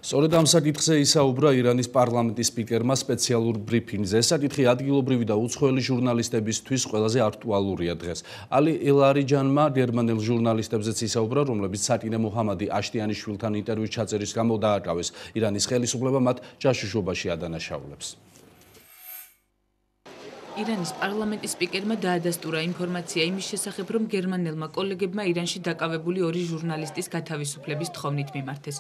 სწორედ ამ საკითხზე ისაუბრა ირანის პარლამენტის სპიკერმა სპეციალურ ბრიფინგზე. ეს საკითხი ადგილობრივი და უცხოელი ჟურნალისტებისთვის ყველაზე აქტუალურია დღეს. ალი ელარიჯანმა გერმანელ ჟურნალისტებზეც ისაუბრა, რომლებიც სატინე მოჰამადი აშტიანიშვილთან ინტერვიუს ჩაწერის გამო დააკავეს. ირანის ხელისუფლება მათ ჯაშუშობაში ადანაშაულებს. ირანის პარლამენტის სპიკერმა დაადასტურა ინფორმაცია იმის შესახებ, რომ გერმანელმა კოლეგებმა ირანში დაკავებული ორი ჟურნალისტის გათავისუფლების თხოვნით მიმართეს.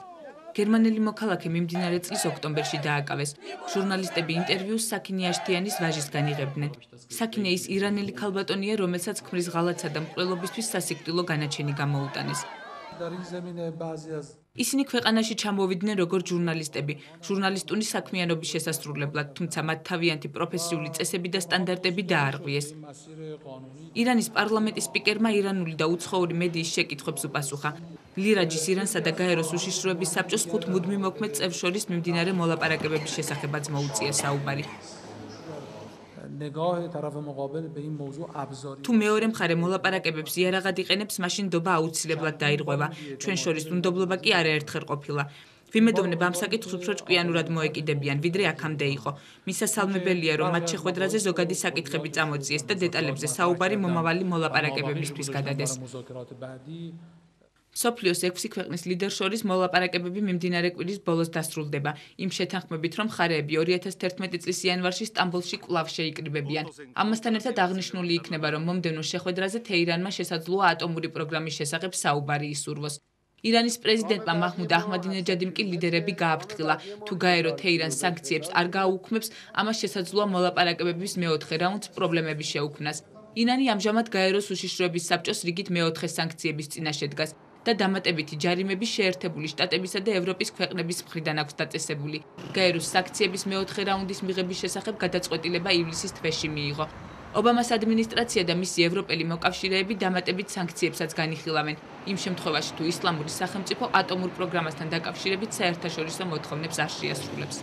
გერმანელი მოქალაქე მიმდინარე წლის ოქტომბერში დააკავეს. ჟურნალისტები ინტერვიუს საკინე აშტიანის ვაჟისგან იღებდნენ. საკინე ის ირანელი ქალბატონია, რომელსაც ქმრის ღალატსა და მკვლელობისთვის სასიკვდილო განაჩენი გამოუტანეს. ისინი ქვეყანაში ჩამოვიდნენ როგორც ჟურნალისტები, ჟურნალისტური საქმიანობის შესასრულებლად, თუმცა მათ თავიანთი პროფესიული წესები და სტანდარტები დაარღვიეს. ირანის პარლამენტის სპიკერმა ირანული და უცხოური მედიის შეკითხვებს უპასუხა. ლირაჯის ირანსა და გაეროს უშიშროების საბჭოს 5 მუდმივ მოქმედ წევრს შორის მიმდინარე მოლაპარაკებების შესახებაც მოუწია საუბარი. თუ მეორე მხარე მოლაპარაკებებს იარაღად იყენებს, მაშინ ნდობა აუცილებლად დაირღვევა. ჩვენ შორის უნდობლობა კი არაერთხელ ყოფილა. ვიმედოვნებ ამ საკითხს უფრო ჭკვიანურად მოეკიდებიან, ვიდრე აქამდე იყო. მისასალმებელია, რომ მათ შეხვედრაზე ზოგადი საკითხები წამოწიეს და დეტალებზე საუბარი მომავალი მოლაპარაკებებისთვის გადადეს. სოფლიოს 6 ქვეყნის ლიდერს შორის მოლაპარაკებები მიმდინარე კვირის ბოლოს დასრულდება. იმ შეთანხმებით, რომ მხარეები 2011 წლის იანვარში სტამბოლში კვლავ შეიკრიბებიან. ამასთან ერთად აღნიშნული იქნება, რომ მომდევნო შეხვედრაზე თეირანმა შესაძლოა ატომური პროგრამის შესახებ საუბარი ისურვოს. ირანის პრეზიდენტმა მაჰმუდ აჰმადინეჯადიმ კი ლიდერები გააფრთხილა, თუ გაერო თეირანს სანქციებს არ გააუქმებს, ამას შესაძლოა მოლაპარაკებების მეოთხე რაუნდს პრობლემები შეუქმნას. ირანი ამჟამად გაეროს უშიშროების საბჭოს რიგით მეოთხე სანქციების წინაშე დგას. და დამატებითი ჯარიმები შეერთებული შტატებისა და ევროპის ქვეყნების მხრიდან აქვს დაწესებული. გაეროს სანქციების მეოთხე რაუნდის მიღების შესახებ გადაწყვეტილება ივლისის თვეში მიიღო. ობამას ადმინისტრაცია და მისი ევროპელი მოკავშირეები დამატებით სანქციებსაც განიხილავენ. იმ შემთხვევაში, თუ ისლამური სახელმწიფო ატომურ პროგრამასთან დაკავშირებით საერთაშორისო მოთხოვნებს არ შეასრულებს.